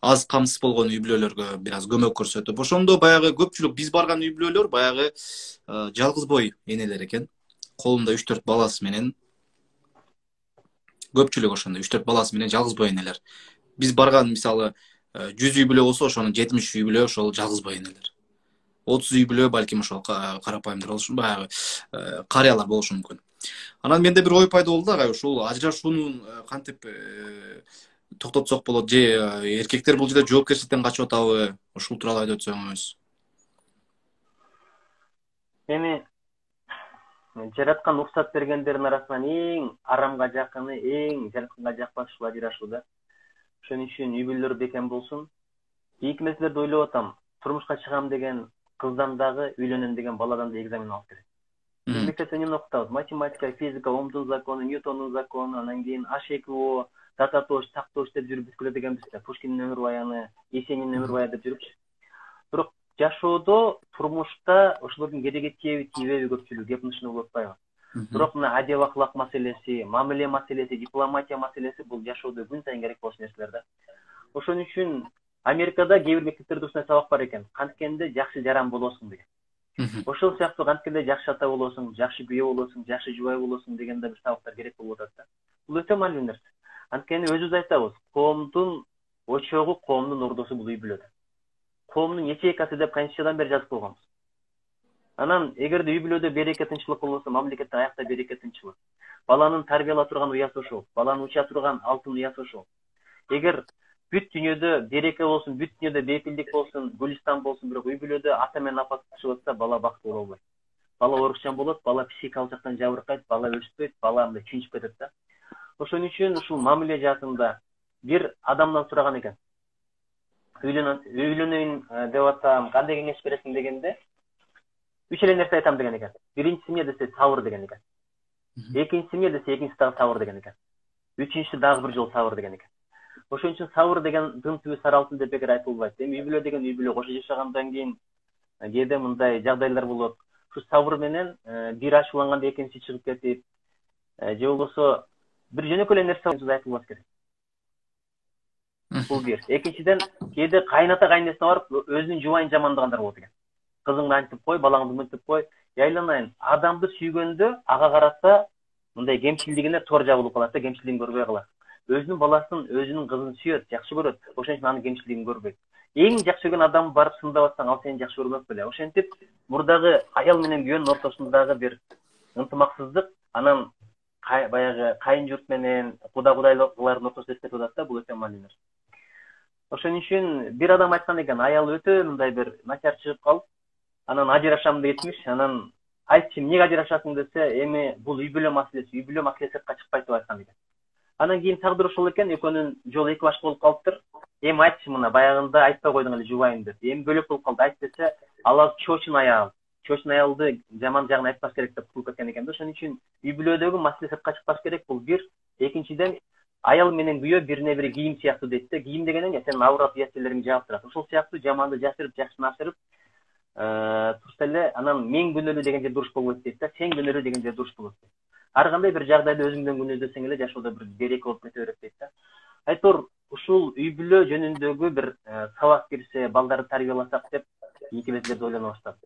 аз камсыз болгон үй бүлөлөргө бир аз көмөк көрсөтүп, ошондо баягы көпчүлүк биз барган үй бүлөлөр баягы жалгыз бой энелер экен. Колунда 3-4 баласы менен, көпчүлүк ошондой 3-4 баласы менен жалгыз бой энелер. Биз барган мисалы 100 үй бүлө болсо, ошонун 70 үй бүлө ошол жалгыз бой энелер. 30 үй бүлө балким ошол карапайымдар болушу, баягы карыялар болушу мүмкүн. Анан менде бир ой пайда болду ага, ушул ажырашуунун кантип токтотсок болот, же эркектер бул жерде жоопкерчиликтен качып атабы? Ушул тууралуу айтып өтсөңүз. Эми жараткан уруксат бергендердин арасынан эң арамга жакыны, эң жаратканга жакпаш ушул ажырашуу да. Ошон үчүн үй бүлөлөр бекем болсун. Ийки нерселерди ойлоп атам. Турмушка чыгам деген кыздан дагы, үйлөнөм деген баладан да экзамен алып керек. Биз мектепте эмне окутабыз? Математика, физика, Омдун закону, Ньютондун закону, анан кийин H2O, Тататош, Тактош деп жүрүп бүткүлө дегенбиз да. Пушкиндин өмүр баяны, Есениндин өмүр баяны деп жүрүпчү. Бирок жашоодо, турмушта ошолордун кереги тийеби, тийбеби көпчүлүк кепнышын болуп атпайбы? Бирок мына адеп акылак маселеси, мамиле маселеси, дипломатия маселеси бул жашоодо күн сайын керек болгон нерселер да. Ошон үчүн Америкада кээ бир мектептерде ушундай сабак бар экен. Канткенде жакшы жаран болосуң деген. Ошол сыяктуу канткенде жакшы ата болосуң, жакшы күйөө болосуң, жакшы жубай болосуң деген да бир сабактар керек болуп атат да. Бул өтө маанилүү нерсе. Анткени өзүбүз айтабыз, коомдун очогу, коомдун ордосу бул үй бүлөдө. Коомдун ячейкасы деп канчадан бери жазып койгонбуз. Анан эгерде үй бүлөдө береке тынччылык болбосо, мамлекеттин аякта береке тынччылык. Баланын тарбиялап турган уясы ошол, баланы уча турган алтын уясы ошол. Эгер бүт дүйнөдө береке болсун, бүт дүйнөдө бейпилдик болсун, гүлистан болсун, бирок үй бүлөдө ата менен апа тынчып атса, бала бактылуу боло албайт. Бала орукчан болот, бала психикалык жактан жабыркайт, бала өспөйт, бала мындай чүнчүп кетет да. Ошон үчүн ушул мамиле жаатында бир адамдан сураган экен. Үйлөнөйүн деп атам, кандай кеңеш бересиң дегенде, 3 эле нерсе айтам деген экен. Биринчиси эмне десе, сабыр деген экен. Экинчиси эмне десе, экинчиси дагы сабыр деген экен. Үчүнчүсү дагы бир жолу сабыр деген экен. Ошон үчүн сабыр деген дым түбү сары алтын деп бекер айтылбайт. Эми үй бүлө деген үй бүлө кошо жашагандан кийин кээде мындай жагдайлар болот. Ушу сабыр менен бир ачууланганда экинчиси чыгып кетип, же болбосо бир жөнөкөй эле нерсе айтылбас керек. Бул бир. Экинчиден, кээде кайната кайнесине барып өзүнүн жубайын жамандагандар болот экен. Кызыңды антип кой, балаңды мынтип кой. Айланайын, адамды сүйгөндө ага карата мындай кемчилдигине тор жабылып калат да, кемчилдигин көрбөй калат. Өзүнүн баласын, өзүнүн кызын сүйөт, жакшы көрөт. Ошон үчүн анын кемчилдигин көрбөйт. Эң жакшы көргөн адам барып сындап атсаң, ал сени жакшы көрбөк беле. Ошентип, мурдагы аял менен күйөөнүн ортосундагы бир ынтымаксыздык, анан баягы кайын журт менен кудайлыклардын ортосунда эстетип атат да, бул өтө маанилүү. Ошон үчүн бир адам айткан экен, аялы өтө мындай бир начар чыгып калып, анан ажырашам детмиш, анан айтчы, эмнеге ажырашасың десе, эми бул үй бүлө маселеси сыртка чыкпайт деп айткан экен. Анан кийин тагдыр ошол экен, экөөнүн жолу эки баш болуп калыптыр. Эми айтчы, мына баягында айтпай койдуң эле жубайым деп. Эми бөлөк болуп калды, айт десе, ал чочун аял. Чочун аялды жаман жагын айтпаш керек деп кууп кеткен экен да. Ошон үчүн үй бүлөдөгү маселе сыртка чыкпаш керек, бул бир. Экинчиден, аял менен күйөө бирине бири кийим сыяктуу дейт да. Кийим деген эмне? Сенин аврат уяттелериңди жаап турат. Ошол сыяктуу жаманды жашырып, жакшыны ашырып турса эле, анан мен күнөөлүү деген жерде дуруш болбойт дейт да. Сен күнөөлүү деген жерде дуруш болот дейт. Ар кандай бир жагдайда өзүңдөн күнөөдөсөң эле жашоодо бир береке болуп кете берет дейт да. Айтор, ушул үй бүлө жөнүндөгү бир сабак кирсе, балдарды тарбияласак деп ийки нерселерди ойлоно баштадым.